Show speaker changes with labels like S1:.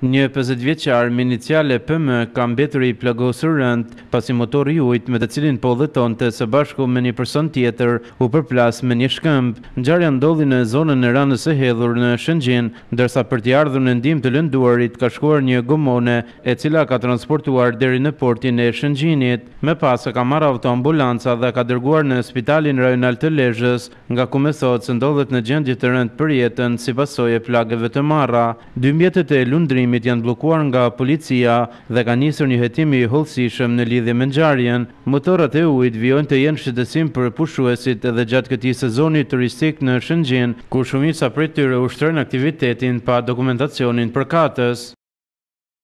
S1: Një 50 vjeçar me iniciale PM ka mbetur i plagosur rënd, pasi motori i ujit me të cilin po udhëtonte së bashku me një person tjetër u përplas me një shkëmb. Ngjarja ndodhi në zonën e Ranës së Hedhur në Shëngjin, ndërsa për t'i ardhur në ndihmë të lënduarit ka shkuar një gomone e cila ka transportuar deri në portin e Shëngjinit. Më pas e ka marrë autoambulanca dhe ka dërguar në spitalin rajonal të Lezhës, nga ku mësohet se ndodhet në gjendje të rëndë për jetën si pasojë e plagëve të marra. Dy mjetet e lundrimit janë bllokuar nga policia dhe ka nisur një hetim i hollësishëm në lidhje me ngjarjen. Motorrat e ujit vijojnë të jenë shqetësim për pushuesit edhe gjatë këtij sezoni turistik në Shëngjin, ku shumica prej tyre ushtrojnë aktivitetin pa dokumentacionin përkatës.